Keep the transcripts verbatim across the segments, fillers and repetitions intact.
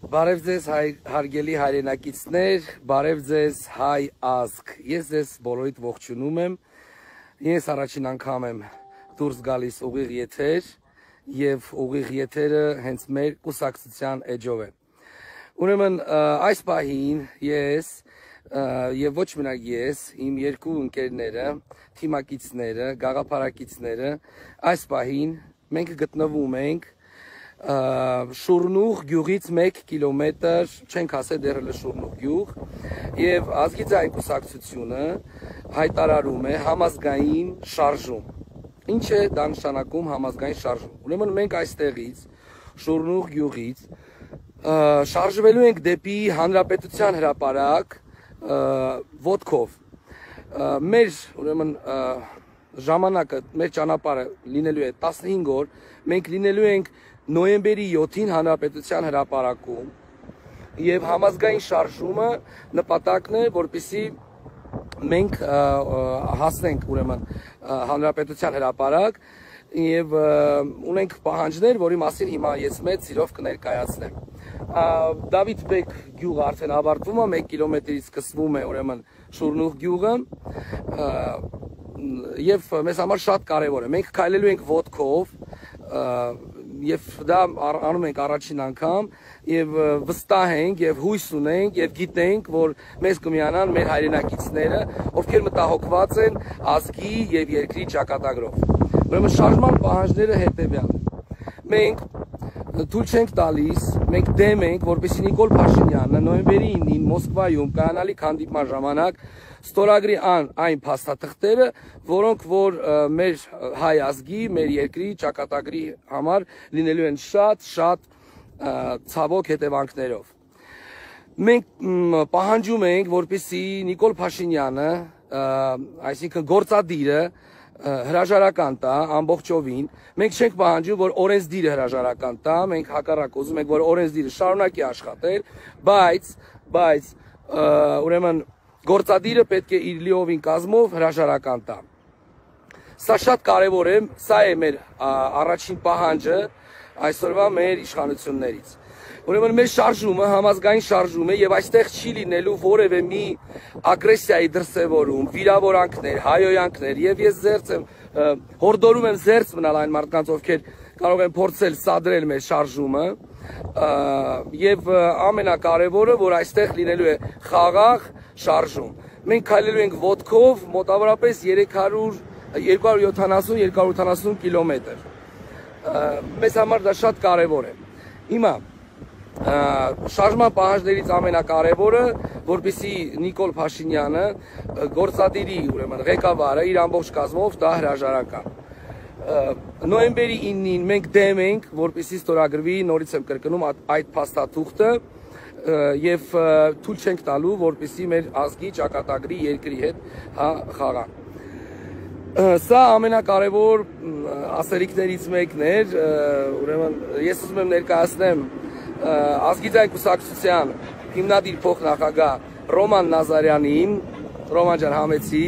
Բարև ձեզ հարգելի հայրենակիցներ, բարև ձեզ հայ ազգ, ես ձեզ բոլորիդ ողջունում եմ, ես առաջին անգամ եմ դուրս գալիս ուղիղ եթեր և ուղիղ եթերը հենց մեր կուսակցության էջով է։ Ուրեմն այս պահին ես և ոչ մենակ ես, իմ երկու ընկերները, թիմակիցները, գաղափարակիցները, այս պահին մենք գտնվում ենք Շուրնուղ գյուղից մեկ կիլոմետր, չենք ասել դեռ Շուրնուղ գյուղ, և ազգի ձայն կուսակցությունը հայտարարում է համազգային շարժում։ Ինչ է դա նշանակում համազգային շարժում։ Ուրեմն մենք այստեղից, Շուրնուղ գյուղից, շարժվելու ենք դեպի Հանրապետության հրապարակ ոտքով։ Մեր ուրեմն ժամանակը, մեր ճանապարհը լինելու է տասնհինգ օր, մենք լինելու ենք նոյեմբերի յոթին Հանրապետության հրապարակում և համազգային շարժումը նպատակն է, որպեսզի մենք հասնենք ուրեմն Հանրապետության հրապարակ և ունենք պահանջներ, որի մասին հիմա ես մեծ սիրով կներկայացնեմ։ Դավիթ Բեկ գյուղը արդեն ավարտվում է, մեկ կիլոմետրից սկսվում է ուրեմն Շուրնուղ գյուղը և մեզ համար շատ կարևոր է։ Մենք քայլելու ենք ոտքով և դա անում ենք առաջին անգամ և վստահ ենք և հույս ունենք և գիտենք, որ մեզ կմիանան մեր հայրենակիցները, ովքեր մտահոգված են ազգի և երկրի ճակատագրով։ Ուրեմն շարժման պահանջները հետևյալն են։ Մենք թույլ չենք տալիս, մենք դեմ ենք, որպեսզի Նիկոլ Փաշինյանը նոյեմբերի ինին Մոսկվայում կայանալիք հանդիպման ժամանակ ստորագրի այն փաստաթղթերը, որոնք որ մեր հայ ազգի, մեր երկրի ճակատագրի համար լինելու են շատ շատ ցավոք հետևանքներով։ Մենք պահանջում ենք, որպեսզի Նիկոլ Փաշինյանը, այսինքն գործադիրը, հրաժարական տա ամբողջովին։ Մենք չենք պահանջում, որ օրենսդիրը հրաժարական տա, մենք հակառակ ուզում ենք, որ օրենսդիրը շարունակի աշխատել, բայց, բայց ուրեմն գործադիրը պետք է իր լիովին կազմով հրաժարական տա։ Սա շատ կարևոր է, սա է մեր առաջին պահանջը այսօրվա մեր իշխանություններից։ Ուրեմն մեր շարժումը համազգային շարժում է և այստեղ չի լինելու որևէ մի ագրեսիայի դրսևորում, վիրավորանքներ, հայոյանքներ և ես զերծ եմ, հորդորում եմ զերծ մնալ այն մարդկանց, ովքեր կարող են փորձել սադրել մեր շարժումը և ամենակարևորը, որ այստեղ լինելու է խաղաղ շարժում։ Մենք քայլելու ենք ոտքով մոտավորապես երկու հարյուր յոթանասուն երկու հարյուր ութանասուն կիլոմետր։ Մեզ համար դա շատ կարևոր է։ Հիմա շարժման պահանջներից ամենակարևորը, որպեսզի Նիկոլ Փաշինյանը գործադիրի ուրեմն ղեկավարը իր ամբողջ կազմով տա հրաժարական։ Նոյեմբերի ինին մենք դեմ ենք, որպեսզի ստորագրվի, նորից եմ կրկնում, այդ փաստաթուղթը և թույլ չենք տալու, որպեսզի մեր ազգի ճակատագրի երկրի հետ խաղան։ Սա ամենակարևոր ասելիքներից մեկն էր, ուրեմն ես ուզում եմ ներկայացնեմ ազգի ձայն կուսակցության հիմնադիր փոխնախագահ Ռոման Նազարյանին, Ռոման ջան համեցի,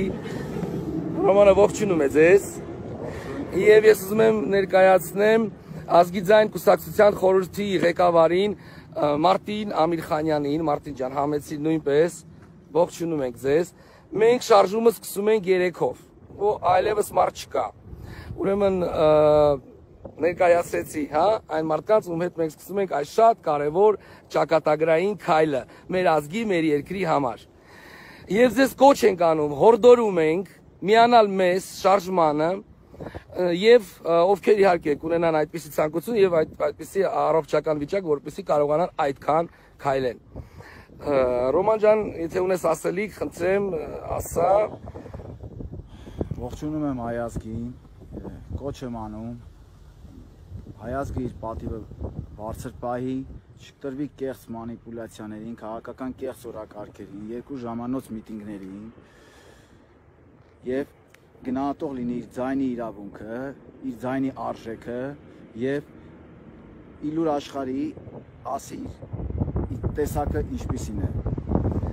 Ռոմանը ողջունում է ձեզ, և ես ուզում եմ ներկայացնեմ ազգի ձայն կուսակցության խորհրդի ղեկավարին Մարտին Ամիրխանյանին, Մարտին ջան համեցի նույնպես, ողջունում ենք ձեզ։ Մենք շարժումը սկսում ենք երեքով, այլևս մարդ չկա։ Ուրեմն ներկայացրեցի, հա, այն մարդկանց, ում հետ մենք սկսում ենք այս շատ կարևոր ճակատագրային քայլը մեր ազգի, մեր երկրի համար։ Եվ ձեզ կոչ ենք անում, հորդորում ենք միանալ մեզ շարժմանը և ովքեր իհարկե կունենան այդպիսի ցանկություն և այդպիսի առողջական վիճակ, որպեսզի կարողանան այդքան քայլեն։ Ռոման ջան, եթե ունես ասելիք, խնդրեմ, ասա։ Ողջունում եմ հայ ազգին, կոչ եմ անում, հայ ազգը իր պատիվը բարձր պահի, չկտրվի կեղծ մանիպուլյացիաներին, քաղաքական կեղծ օրակարգերին, երկու ժամանոց միտինգներին և գնահատող լինի իր ձայնի իրավունքը, իր ձայնի արժեքը և իլուր աշխարհի ասի իր տեսակը ինչպիսին է,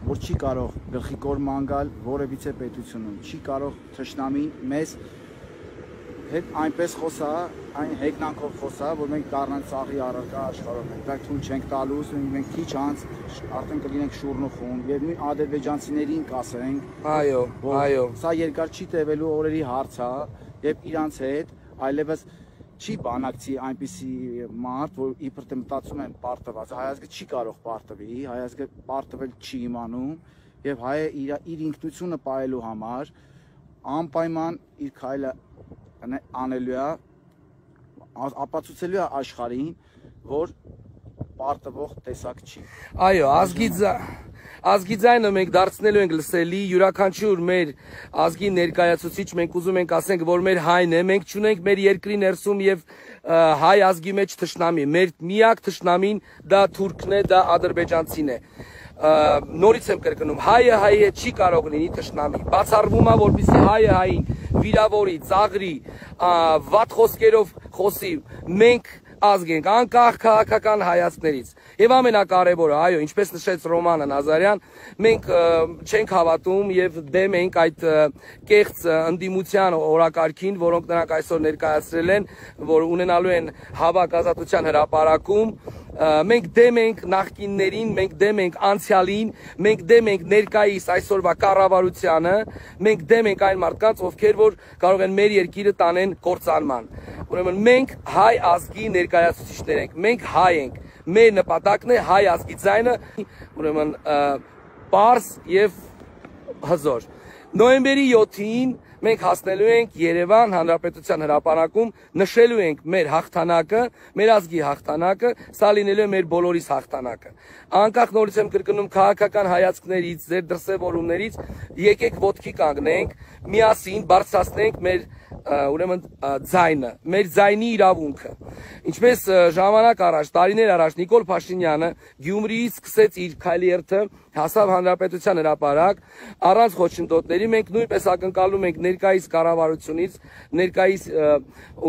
որ չի կարող գլխի կոր ման գալ որևիցե պետությունում, չի կարող թշնամին մեզ հետ այնպես խոսա, այն հեգնանքով խոսա, որ մենք դառնանք ծաղի առարկա աշխարհում ենք, բայց թույլ չենք տալուս, մենք քիչ անց արդեն կլինենք շուրն ու խումբ, եւ նույն ադրբեջանցիներին կասենք, այո, այո, սա երկար չի տևելու օրերի հարց է, եւ իրանց հետ այլևս չի բանակցի այնպիսի մարդ, որ իբր թե մտածում են պարտված, հայազգը չի կարող պարտվի, հայազգը պարտվել չի իմանում, եւ հայը իր իր ինքնությունը պահելու համար անպայման իր քայլը անելու է, ապացուցելու է աշխարհին, որ պարտվող տեսակ չի։ Այո, ազգի ազգի ձայնը մենք դարձնելու ենք լսելի, յուրաքանչյուր մեր ազգի ներկայացուցիչ մենք ուզում ենք ասենք, որ մեր հայն է, մենք չունենք մեր երկրի ներսում եւ հայ ազգի մեջ թշնամի, մեր միակ թշնամին դա թուրքն է, դա ադրբեջանցին է։ Նորից եմ կրկնում, հայը հայը չի կարող լինի թշնամի, բացառվում է, որպեսզի հայը հային վիրավորի, ծաղրի, վատ խոսքերով խոսի, մենք ազգ ենք, անկախ քաղաքական հայացքներից։ Եվ ամենակարևորը, այո, ինչպես նշեց Ռոմանը Նազարյան, մենք չենք հավատում եւ դեմ ենք այդ կեղծ ընդդիմության օրակարգին, որոնք նրանք այսօր ներկայացրել են, որ ունենալու են հավաք ազատության հրապարակում, մենք դեմ ենք նախկիններին, մենք դեմ ենք անցյալին, մենք դեմ ենք ներկայիս այսօրվա կառավարությանը, մենք դեմ ենք այն մարդկանց, ովքեր որ կարող են մեր երկիրը տանեն կործանման։ Ուրեմն մենք հայ ազգի ներկայացուցիչներ ենք, մենք հայ ենք, մեր նպատակն է հայ ազգի ձայնը, ուրեմն պարզ եւ հզոր։ Նոյեմբերի յոթին մենք հասնելու ենք Երևան Հանրապետության հրապարակում, նշելու ենք մեր հաղթանակը, մեր ազգի հաղթանակը, սա լինելու է մեր բոլորիս հաղթանակը։ Անկախ նորից եմ կրկնում քաղաքական հայացքներից, ձեր դրսևորումներից, եկեք ոտքի կանգնենք, միասին բարձրացնենք մեր ուրեմն ձայնը, մեր ձայնի իրավունքը։ Ինչպես ժամանակ առաջ, տարիներ առաջ Նիկոլ Փաշինյանը Գյումրիից սկսեց իր քայլերթը, հասավ Հանրապետության հրապարակ, առանց խոչընդոտների, մենք նույնպես ակնկալում ենք ներկայիս կառավարությունից, ներկայիս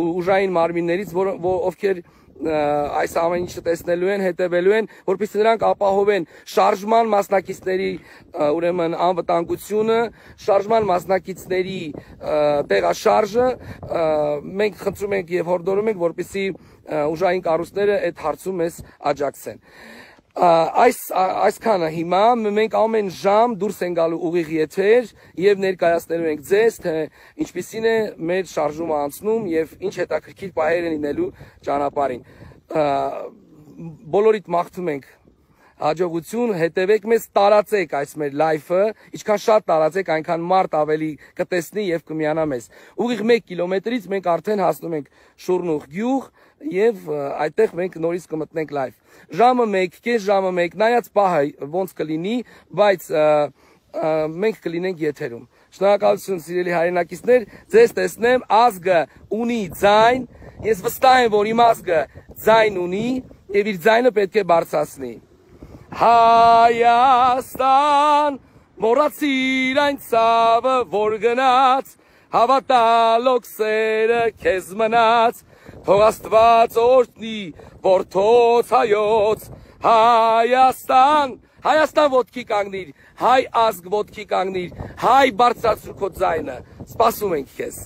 ուժային մարմիններից, ովքեր այս ամեն ինչը տեսնելու են, հետևելու են, որպեսզի նրանք ապահովեն շարժման մասնակիցների ուրեմն անվտանգությունը, շարժման մասնակիցների տեղաշարժը, մենք խնդրում ենք եւ հորդորում ենք, որպեսզի ուժային կառույցները այդ հարցում մեզ աջակցեն։ Այս այսքանը հիմա մենք ամեն ժամ դուրս են գալու ուղիղ եթեր եւ ներկայացնելու ենք ձեզ, թե ինչպիսին է մեր շարժումը անցնում եւ ինչ հետաքրքիր պահեր են լինելու ճանապարհին։ Բոլորիդ մաղթում ենք հաջողություն, հետևեք մեզ, տարածեք այս մեր լայֆը, ինչքան շատ տարածեք, այնքան մարդ ավելի կտեսնի եւ կմիանա մեզ։ Ուղիղ մեկ կիլոմետրից մենք արդեն հասնում ենք Շուրնուղ գյուղ եւ այդտեղ մենք նորից կմտնենք լայվ։ Ժամը մեկ, կես ժամը մեկ, նայած պահը ոնց կլինի, բայց մենք կլինենք եթերում։ Շնորհակալություն սիրելի հայրենակիցներ, ձեզ տեսնեմ, ազգը ունի ձայն, ես վստահ եմ, որ իմ ազգը ձայն ունի եւ իր ձայնը պետք է բարձրացնի։ Հայաստան, մոռացիր այն ցավը, որ գնաց, հավատալոք սերը քեզ մնաց, թող Աստված օրհնի որդոց հայոց, Հայաստան, Հայաստան ոտքի կանգնիր, հայ ազգ ոտքի կանգնիր, հայ բարձրացրու քո ձայնը, սպասում ենք քեզ։